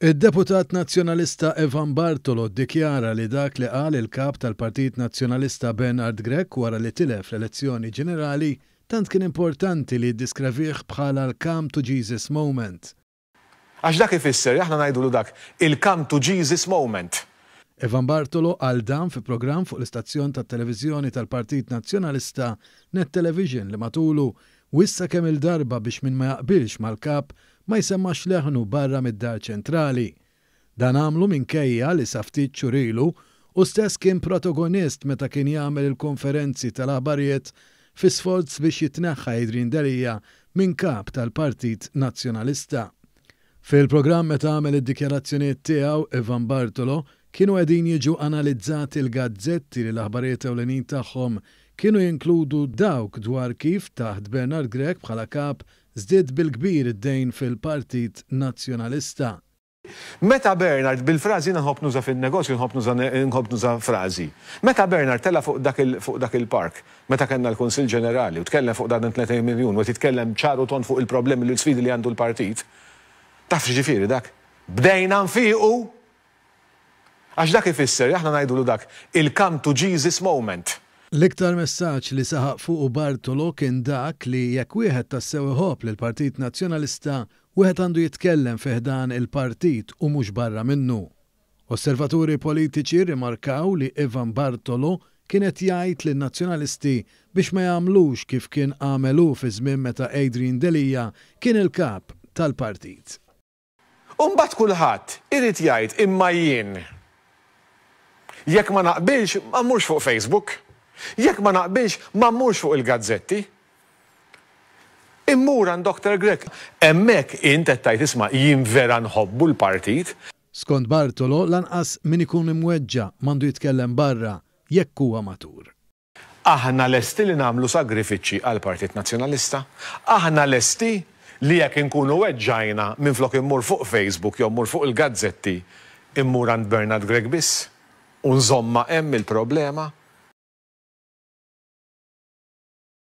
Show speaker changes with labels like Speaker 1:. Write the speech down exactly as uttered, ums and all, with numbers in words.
Speaker 1: Id-deputat Nazzjonalista Evan Bartolo ddikjara li dak li qal il-kap tal-Partit Nazzjonalista Bernard Grech wara li tilef l-elezzjoni ġenerali tant kien importanti li ddiskrevih bħala l-come to Jesus moment.
Speaker 2: Għax dak ifisser, aħna ngħidulu dak, il-come to Jesus moment.
Speaker 1: Evan Bartolo qal dan fi programm fuq l-istazzjon tat-televiżjoni tal-Partit Nazzjonalista Net Television li matulu wissa kemm il-darba biex min ma jaqbilx mal-kap ma jsemmax leħnu barra mid-dar ċentrali. Dan għamlu minkejja li sa ftit xhur ilu hu stess kien protagonist meta kien jagħmel il-konferenzi tal-aħbarijiet fi sforz biex jitneħħa Adrian Delia minn kap tal-Partit Nazzjonalista. Fil-programm meta għamel id-dikjarazzjonijiet tiegħu, Evan Bartolo, kienu qegħdin jiġu analizzati l-gazzetti li l-aħbarijiet ewlenin tagħhom kienu jinkludu dawk dwar kif taħt Bernard Grech bħala kap żdied bil-kbir id-dejn fil-Partit Nazzjonalista.
Speaker 2: Meta Bernard, bil-frażi nħobb nuża fin-negozju, nħobb nuża, nħobb nuża frażi. Meta Bernard tella fuq dak il, fuq dak il-park, meta kellna l-Kunsill Ġenerali u tkellem fuq dan tletin miljun u titkellem ċar u tond fuq il-problemi u l-sfidi li għandu l-partit, taf x'ġifieri dak? Bdejna nfiqu. Għax dak ifisser, aħna ngħidulu dak, il-come to Jesus moment.
Speaker 1: L-iktar messaġġ li saħaq fuq Bartolo kien dak li jekk wieħed tassew iħobb lill-Partit Nazzjonalista, wieħed għandu jitkellem fi ħdan il-partit u mhux barra minnu. Osservaturi politiċi rimarkaw li Evan Bartolo kien qed jgħid lin-nazzjonalisti biex ma jagħmlux kif kien għamelu fi żmien meta Adrian Delia kien il-kap tal-partit.
Speaker 2: U mbagħad kulħadd irid jgħid imma jien. Jekk ma naqbilx, ma mmurx fuq Facebook. Jekk ma naqbilx, ma mmurx fuq il-gazzetti. Immur għand Doktor Grech. Hemmhekk int qed tgħid, isma', jien vera nħobbu l-partit.
Speaker 1: Skont Bartolo, lanqas min ikun imweġġa' m'għandu jitkellem barra jekk huwa matur.
Speaker 2: Aħna lesti li nagħmlu sagrifiċċji għall-Partit Nazzjonalista. Aħna lesti li jekk inkunu weġġajna minflok immur fuq Facebook jew immur fuq il-gazzetti, immur għand Bernard Grech biss u nżomma hemm il-problema.